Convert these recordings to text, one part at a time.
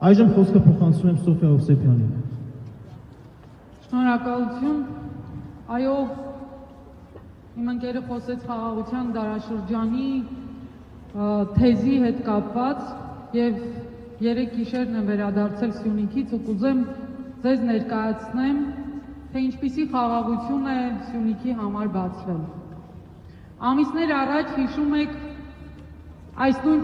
Այժմ խոսքը փոխանցում եմ Սոֆիա Հովսեփյանին։ Շնորհակալություն։ Այո, իմ ընկերը խոսեց խաղաղության դարաշրջանի թեզի հետ կապված եւ երեք գիշերն եմ վերադարձել Սյունիքից ու կուզեմ ձեզ ներկայացնեմ, թե ինչպիսի խաղաղություն է Սյունիքի համար բացվել։ Ամիսներ առաջ հիշում եք այս նույն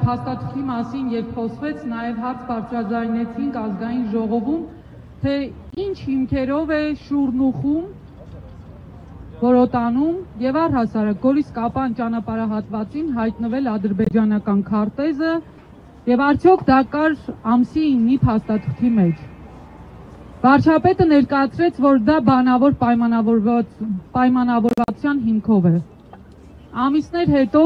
փաստաթղթի մասին, երբ խոսվեց, նաև հարց բարձրաձայնեցինք ազգային ժողովում, թե ինչ հիմքերով է Շուռնուխում, Որոտանում եւ առհասարակ Գորիս-Կապան ճանապարհահատվածին հայտնվել ադրբեջանական քարտեզը եւ արդյոք դա կար ամսի 9-ի փաստաթղթի մեջ։ Վարչապետը ներկայացրեց, որ դա բանավոր պայմանավորվածության հիմքով է։ Ամիսներ հետո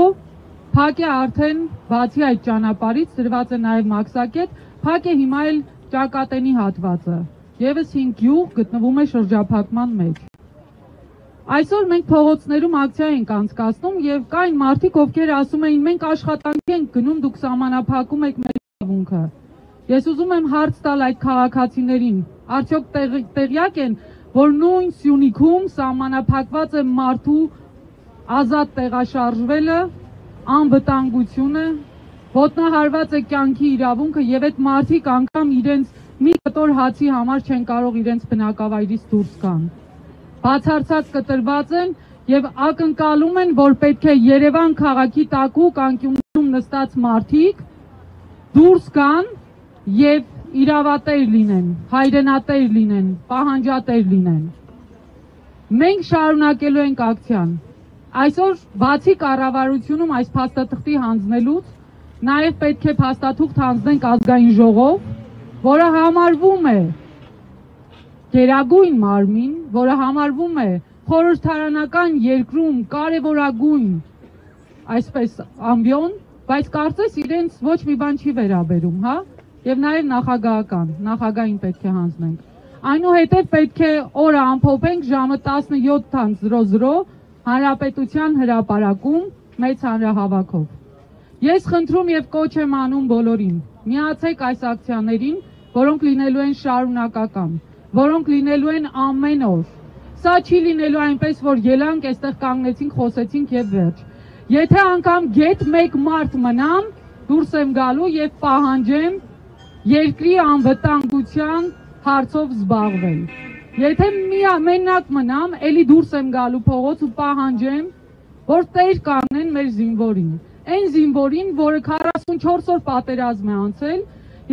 փակ է արդեն բացի այդ ճանապարհից դրված է նաև մաքսակետ, փակ է հիմա էլ Ճակատենի հատվածը, եւս 5 գյուղ գտնվում է շրջափակման մեջ։ Այսօր մենք փողոցներում ակցիա ենք անցկացնում եւ կային մարդիկ, ովքեր ասում էին մենք աշխատանքի ենք գնում, դուք սահմանափակում եք մեր իրավունքը։ Ես ուզում եմ հարց տալ այդ քաղաքացիներին, արդյոք տեղյակ են, որ նույն Սյունիքում սահմանափակված է մարդու ազատ տեղաշարժվելը, անվտանգությունը, ոտնահարված է կյանքի իրավունքը եւ այդ մարդիկ անգամ իրենց մի կտոր հացի համար չեն կարող իրենց բնակավայրից դուրս գան։ Բացարձակ կտրված են եւ ակնկալում են, որ պետք է Երևան քաղաքի տակուկ անկյունում նստած մարդիկ դուրս գան եւ իրավատեր լինեն, հայրենատեր լինեն, պահանջատեր լինեն։ Մենք շարունակելու ենք ակցիան։ Այսօր բացի կառավարությունում այս փաստաթղթի հանձնելուց, նաև պետք է փաստաթուղթ հանձնենք ազգային ժողով, որը համարվում է գերագույն մարմին, որը համարվում է խորհրդարանական երկրում կարևորագույն, այսպես ամբիոն, բայց կարծես իրենց ոչ մի բան չի վերաբերում, հա, եւ նաև նախագահային պետք է հանձնենք։ Այնուհետև պետք է օրը ամփոփենք ժամը 17:00 Հանրապետության հրապարակում մեծ հանրահավաքով։ Ես խնդրում եւ կոչ եմ անում բոլորին, միացեք այս ակցիաներին, որոնք լինելու են շարունակական, որոնք լինելու են ամեն օր։ Սա չի լինելու այնպես, որ ելանք, այստեղ կանգնեցինք, խոսեցինք եւ վերջ։ Եթե անգամ գետ մեկ մարդ մնամ, դուրս եմ գալու եւ պահանջեմ երկրի անվտանգության հարցով զբաղվել։ Եթե մենակ մնամ, էլի դուրս եմ գալու փողոց ու պահանջեմ, որ տեր կանեն մեր զինվորին։ Այն զինվորին, որը 44 օր պատերազմ է անցել,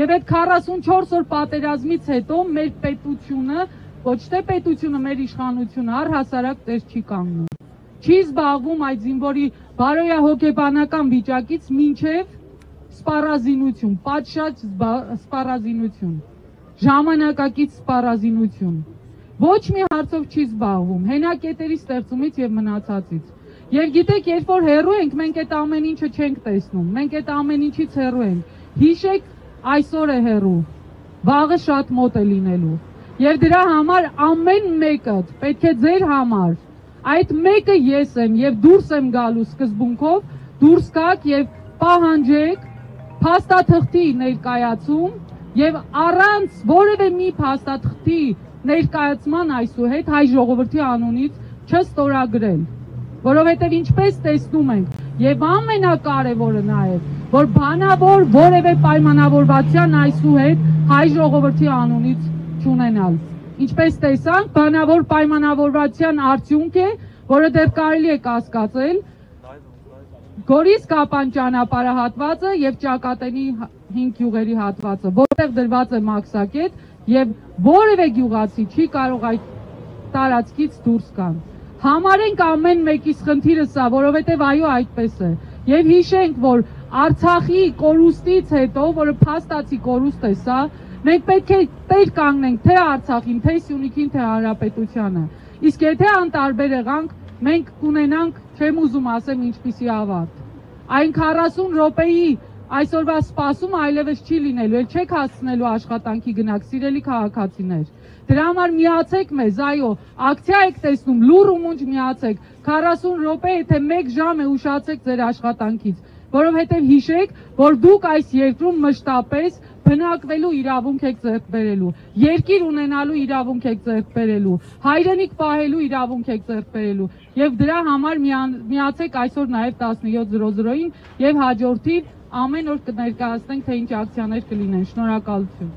եւ այդ 44 օր պատերազմից հետո մեր պետությունը, ոչ թե պետությունը, մեր իշխանությունը առհասարակ տեր չի կանգնում։ Չի զբաղվում այդ զինվորի բարոյահոգեբանական վիճակից մինչև սպառազինություն, պատշաճ սպառազինություն, ժամանակակից սպառազինություն։ Ոչ մի հարցով չի զբաղվում, հենակետերի ստեղծումից եւ մնացածից։ Եվ գիտեք, երբ որ հեռու ենք, մենք այդ ամեն ինչը չենք տեսնում, մենք այդ ամեն ինչից հեռու ենք։ Հիշեք, այսօր է հեռու, վաղը շատ մոտ է լինելու։ Եվ դրա համար ամեն մեկը պետք է ձեր համար, այդ մեկը ես եմ եւ դուրս եմ գալու սկզբունքով, դուրս գաք եւ պահանջեք փաստաթղթի ներկայացում եւ առանց որևէ մի փաստաթղթի ներկայացման այսուհետ հայ ժողովրդի անունից չստորագրել, որովհետև ինչպես տեսնում ենք եւ ամենակարևորը նաեւ, որ բանավոր որևէ պայմանավորվածության այսուհետ հայ ժողովրդի անունից չունենալ։ Ինչպես տեսանք, բանավոր պայմանավորվածության արդյունք է, որը դեռ կարելի է կասկածել Գորիս-Կապան ճանապարհահատվածը եւ Ճակատենի 5 գյուղերի հատվածը, որտեղ դրված է մաքսակետ եւ որևէ գյուղացի չի կարող այդ տարածքից դուրս գալ։ Համարենք ամեն մեկիս խնդիրը սա, որովհետեւ այո այդպես է։ Եվ հիշենք, որ Արցախի կորուստից հետո, որը փաստացի կորուստ է սա, մենք պետք է տեր կանգնենք թե Արցախին, թե Սյունիքին, թե Հանրապետությանը։ Իսկ եթե անտարբեր եղանք, մենք կունենանք, չեմ ուզում ասեմ ինչպիսի ավարտ։ Այն 40 րոպեի այսօրվա սպասումը այլևս չի լինելու, էլ չեք հասցնելու աշխատանքի գնաք, սիրելի քաղաքացիներ։ Դրա համար միացեք մեզ, այո, ակցիա եք տեսնում, լուռ ու մունջ միացեք, 40 րոպե, եթե 1 ժամ է ուշացեք ձեր աշխատանքից, որովհետև հիշեք, որ դուք այս երկրում մշտապես բնակվելու իրավունք եք ձեռք բերելու, երկիր ունենալու իրավունք եք ձեռք բերելու, հայրենիք պահելու իրավունք եք ձեռք բերելու եւ դրա համար միացեք այսօր նաեւ 17:00-ին եւ հաջորդիվ ամեն օր կներկայացնենք թե ինչ ակցիաներ կլինեն։ Շնորհակալություն։